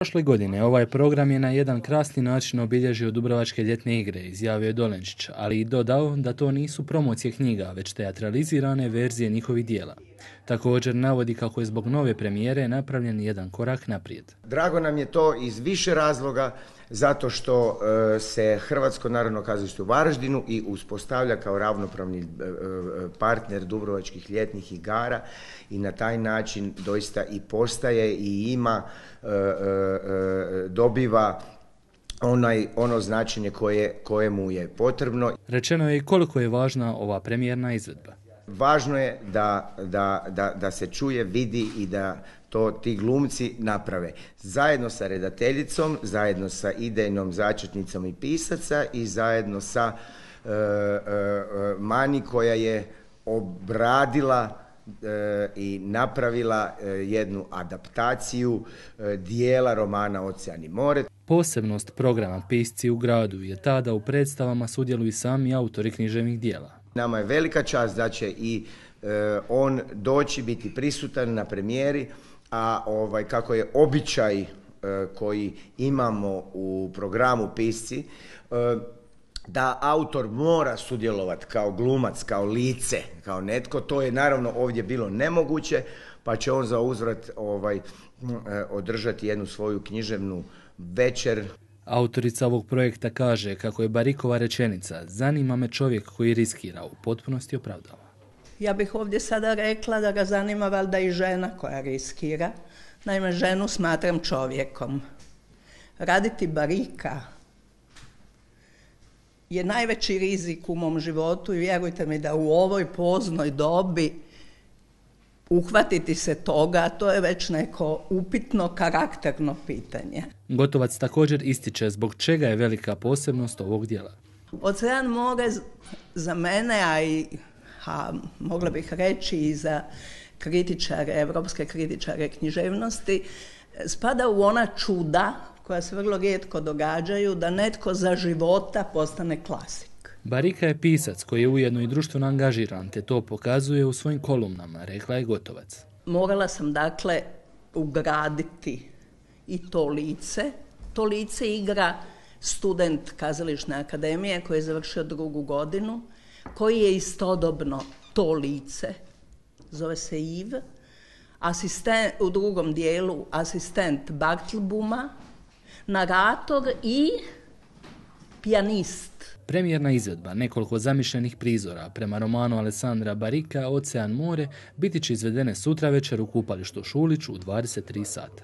Prošle godine ovaj program je na jedan krasni način obilježio Dubrovačke ljetne igre, izjavio je Dolenčić, ali i dodao da to nisu promocije knjiga, već teatralizirane verzije njihovih dijela. Također navodi kako je zbog nove premijere napravljen jedan korak naprijed. Drago nam je to iz više razloga, zato što se Hrvatsko narodno kazalište u Varaždinu i uspostavlja kao ravnopravni partner Dubrovačkih ljetnih igara i na taj način doista i postaje i ima, dobiva ono značenje koje mu je potrebno. Rečeno je i koliko je važna ova premijerna izvedba. Važno je da se čuje, vidi i da to ti glumci naprave. Zajedno sa redateljicom, zajedno sa idejnom začetnicom i pisaca i zajedno sa Mani koja je obradila i napravila jednu adaptaciju dijela romana Ocean i more. Posebnost programa Pisci u gradu je ta da u predstavama sudjeluju sami autori književnih dijela. Nama je velika čast da će i on doći, biti prisutan na premijeri, a kako je običaj koji imamo u programu Pisci, da autor mora sudjelovati kao glumac, kao lice, kao netko, to je naravno ovdje bilo nemoguće, pa će on za uzvrat održati jednu svoju književnu večer. Autorica ovog projekta kaže kako je Barikova rečenica "Zanima me čovjek koji riskira" u potpunosti opravdava. Ja bih ovdje sada rekla da ga zanima valjda i žena koja riskira. Naime, ženu smatram čovjekom. Raditi barika je najveći rizik u mom životu i vjerujte mi da u ovoj poznoj dobi uhvatiti se toga, to je već neko upitno karakterno pitanje. Gotovac također ističe zbog čega je velika posebnost ovog djela. Ocean more za mene, a mogla bih reći i za kritičare, evropske kritičare književnosti, spada u ona čuda koja se vrlo rijetko događaju, da netko za života postane klasik. Barika je pisac koji je ujedno i društveno angažiran, te to pokazuje u svojim kolumnama, rekla je Gotovac. Morala sam dakle ugraditi i to lice. To lice igra student Kazališne akademije koji je završio 2. godinu, koji je istodobno to lice, zove se Iv, u drugom dijelu asistent Bartlbuma, narator i pijanist. Premijerna izvedba nekoliko zamišljenih prizora prema romanu Alessandra Barika Ocean more biti će izvedene sutra večer u kupalištu Šulić u 23 sata.